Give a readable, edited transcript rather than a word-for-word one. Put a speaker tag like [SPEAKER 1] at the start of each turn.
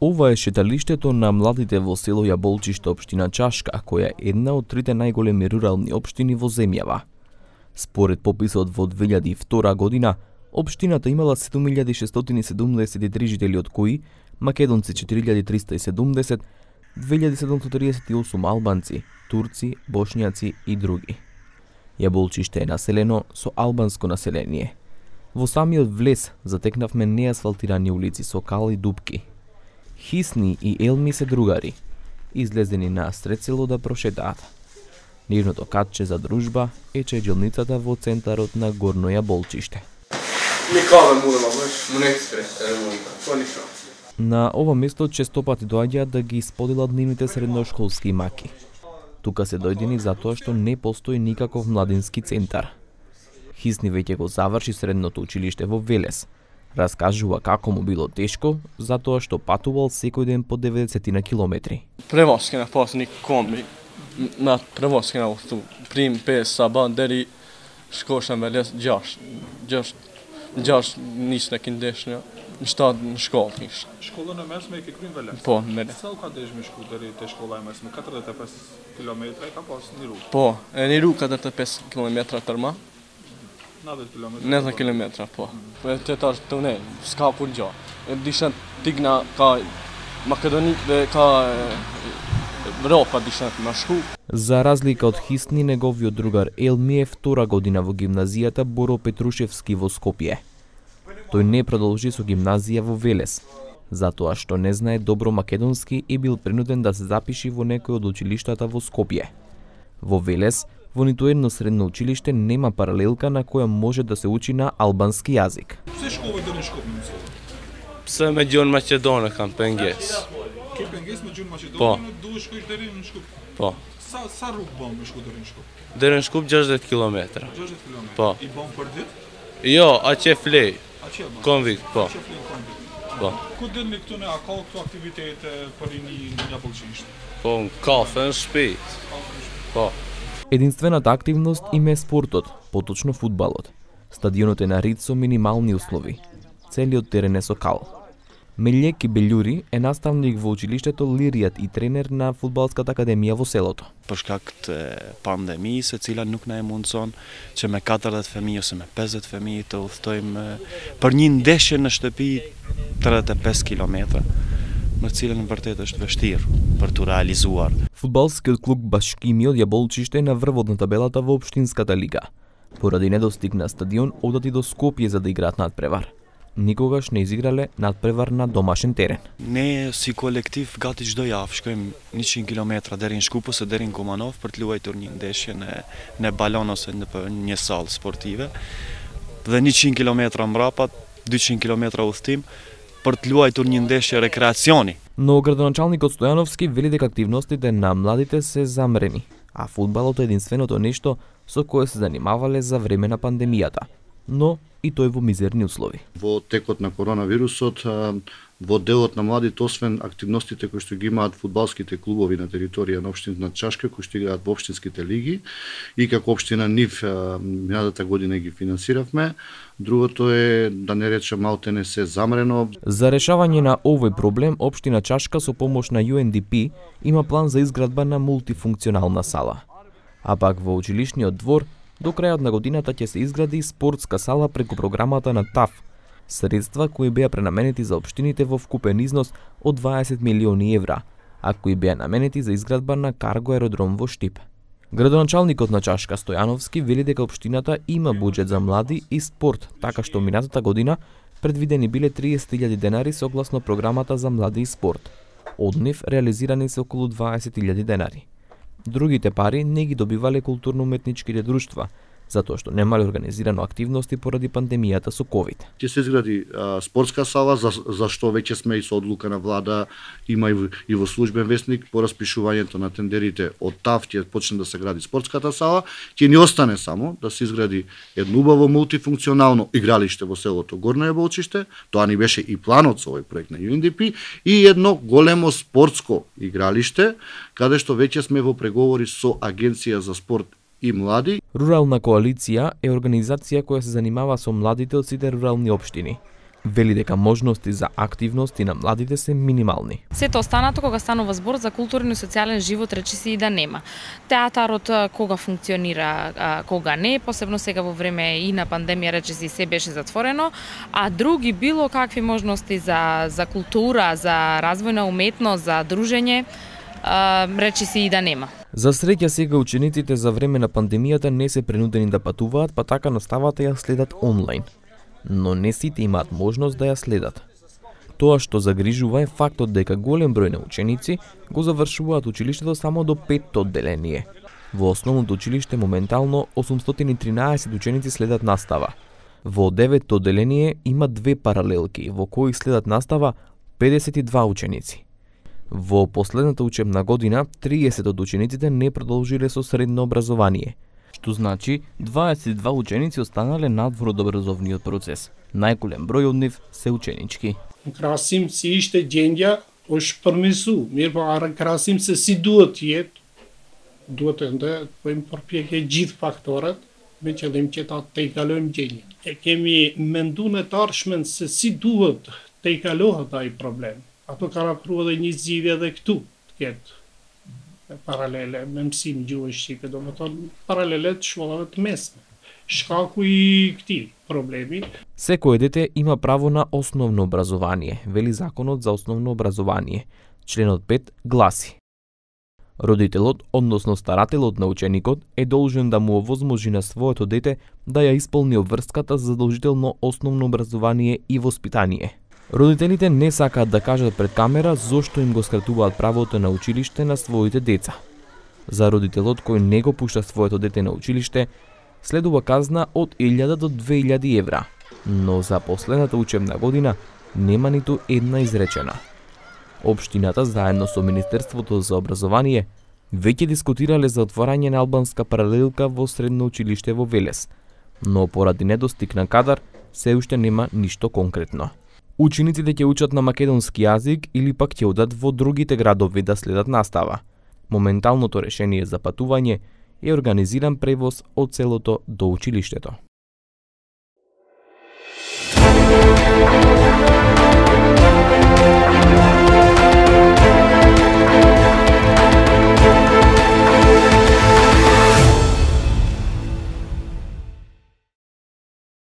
[SPEAKER 1] Ова е шеталиштето на младите во село Јаболчиште, општина Чашка, која е една од трите најголеми рурални општини во земјава. Според пописот во 2002 година, општината имала 7673 жители, од кои македонци 4370, 2738 албанци, турци, бошњаци и други. Јаболчиште е населено со албанско население. Во самиот влез затекнавме неасфалтирани улици со кал и дупки. Хисни и Елми се другари, излезени на сред село да прошетаат. Нивното катче за дружба е чеѓелницата во центарот на Горно Јаболчиште. На ова место често пати доаѓаат да ги споделат нивните средношколски маки. Тука се дојдени затоа што не постои никаков младински центар. Хисни веќе го заврши средното училиште во Велес. Раскажува како му било тешко, затоа што патувал секој ден по 90 на километри.
[SPEAKER 2] Превозки на посни комби, на превозки на усту, прим 5 саба, дери шкош на Велес, ġax nis na kien deċna, nxtad nxkol kiex.
[SPEAKER 3] Школа на месме ке крим Велес?
[SPEAKER 2] Po, mele.
[SPEAKER 3] Sa u ka deġ me shku deri te shkolla e mesme, 45 km e ka pas një rrugë.
[SPEAKER 2] Po, e një rrugë 45 km tërma,
[SPEAKER 3] 90 km.
[SPEAKER 2] 90 km, po. Të tash të ne, s'ka kur gjo. Dishen tigna ka Македони, ka Европа дишен на шку.
[SPEAKER 1] За разлика од Хисни, неговиот другар Елми е втора година во гимназијата Боро Петрушевски во Скопје. Тој не продолжи со гимназија во Велес, затоа што не знае добро македонски и бил принуден да се запиши во некој од училиштата во Скопје. Во Велес, во ниту едно средно училиште нема паралелка на која може да се учи на албански јазик.
[SPEAKER 3] Се школы дали Шкопје?
[SPEAKER 4] Pse me gjuhën maqedone kam penges.
[SPEAKER 3] Ke penges me gjuhën maqedone,
[SPEAKER 4] Po.
[SPEAKER 3] duhet shkoj deri në Shkup.
[SPEAKER 4] Po.
[SPEAKER 3] Sa rrugë bën me shku deri në Shkup?
[SPEAKER 4] Deri në Shkup 60 km.
[SPEAKER 3] 60 km.
[SPEAKER 4] Po.
[SPEAKER 3] I bën për ditë?
[SPEAKER 4] Jo, aq e flej.
[SPEAKER 3] A që bën?
[SPEAKER 4] Konvikt, po.
[SPEAKER 3] Që flen konvikt.
[SPEAKER 4] Po.
[SPEAKER 3] Ku dini këtu ne, a ka këtu aktivitete për rini në Јаболчиште?
[SPEAKER 4] Po, në kafe në shtëpi. Po.
[SPEAKER 1] Единствената активност им е спортот, поточно фудбалот. Стадионот е нарит со минимални услови. Целиот терен е со кал. Мелјеки Белјури е наставник во училиштето Лиријат и тренер на фудбалската академија во селото.
[SPEAKER 5] Për shkak të pandemisë, e cila nuk na e mundson që me 40 fëmijë ose me 50 fëmijë të udhtojmë për një ndeshje në shtëpi 35 km, në cilën vërtet është vështirë për tu realizuar.
[SPEAKER 1] Фудбалскиот клуб Башкими од Јаболчиште е на врвот на табелата во општинската лига. Поради недостиг на стадион, одат и до Скопје за да играат надпревар. Никогаш не изиграле надпревар на домашен терен.
[SPEAKER 5] Ne si kolektiv gati çdo javë shkojmë 100 km deri në Shkup ose deri në Kumanov për të luajtur një ndeshje në balon ose në një sallë sportive. Dhe 100 km mbrapa, 200 km udhtim për të luajtur një ndeshje rekreacioni.
[SPEAKER 1] Но градоначалникот Стојановски вели дека активностите на младите се замрени, а фудбалот е единственото нешто со кое се занимавале за време на пандемијата, но и тој во мизерни услови.
[SPEAKER 6] Во текот на коронавирусот, во делот на младите, освен активностите кои што ги имаат фудбалските клубови на територија на општината Чашка, кои што играат во општинските лиги, и како општина нив минатата година ги финансиравме, другото е, да не речем, малтене се замрено.
[SPEAKER 1] За решавање на овој проблем, општина Чашка со помош на UNDP има план за изградба на мултифункционална сала. А пак во училишниот двор до крајот на годината ќе се изгради спортска сала преку програмата на ТАФ, средства кои беа пренаменети за општините во вкупен износ од 20 милиони евра, а кои беа наменети за изградба на карго аеродром во Штип. Градоначалникот на Чашка Стојановски вели дека општината има буџет за млади и спорт, така што минатата година предвидени биле 30.000 денари согласно програмата за млади и спорт. Од нив реализирани се околу 20.000 денари. Другите пари не ги добивале културно-уметничките друштва, затоа што немале организирано активности поради пандемијата со ковид.
[SPEAKER 6] Ќе се изгради спортска сала, за што веќе сме и со одлука на влада, има и во службен весник по распишувањето на тендерите од ТАФ ќе почне да се гради спортската сала, ќе ни остане само да се изгради едно убаво мултифункционално игралиште во селото Горно Јаболчиште, тоа ни беше и планот со овој проект на UNDP, и едно големо спортско игралиште, каде што веќе сме во преговори со Агенција за спорт и млади.
[SPEAKER 1] Рурална коалиција е организација која се занимава со младите од сите рурални општини. вели дека можности за активности на младите се минимални.
[SPEAKER 7] Сето останато кога станува збор за културен и социјален живот речиси и да нема. Театарот кога функционира, кога не, посебно сега во време и на пандемија речиси се беше затворено, а други било какви можности за култура, за развојна уметност, за дружење, речиси и да нема.
[SPEAKER 1] За среќа сега учениците за време на пандемијата не се принудени да патуваат, па така наставата ја следат онлайн. Но не сите имаат можност да ја следат. Тоа што загрижува е фактот дека голем број на ученици го завршуваат училиштето само до 5-то одделение. Во основното училиште моментално 813 ученици следат настава. Во 9-то одделение има 2 паралелки во кои следат настава 52 ученици. Во последната учебна година 30 од учениците не продолжиле со средно образование, што значи 22 ученици останале надвор од образовниот процес. Најголем број од нив се ученички.
[SPEAKER 8] Красим си ishte gjendja është përmirësu, mirë po arë krasim se si duhet jetë, duhet të bëjmë përpjekje gjithë faktorët me qëllim që ta tejkalojmë gjendjen. E kemi mendu në të arshmen se si duhet tejkalohet ai problem. Ato kanë afruar edhe një zgjidhje edhe këtu të ketë paralele me mësim gjuhë shqipe, domethënë paralele të shkollave të mesme. Shkaku i këtij problemi.
[SPEAKER 1] Секое дете има право на основно образование, вели Законот за основно образование. Членот 5 гласи: родителот, односно старателот на ученикот, е должен да му овозможи на своето дете да ја исполни обврската за задолжително основно образование и воспитание. Родителите не сакаат да кажат пред камера зошто им го скратуваат правото на училиште на своите деца. За родителот кој не го пушта своето дете на училиште, следува казна од 1000 до 2000 евра, но за последната учебна година нема ниту една изречена. Општината заедно со Министерството за образование веќе дискутирале за отворање на албанска паралелка во средно училиште во Велес, но поради недостиг на кадар се уште нема ништо конкретно. Учениците ќе учат на македонски јазик или пак ќе одат во другите градови да следат настава. Моменталното решение за патување е организиран превоз од селото до училиштето.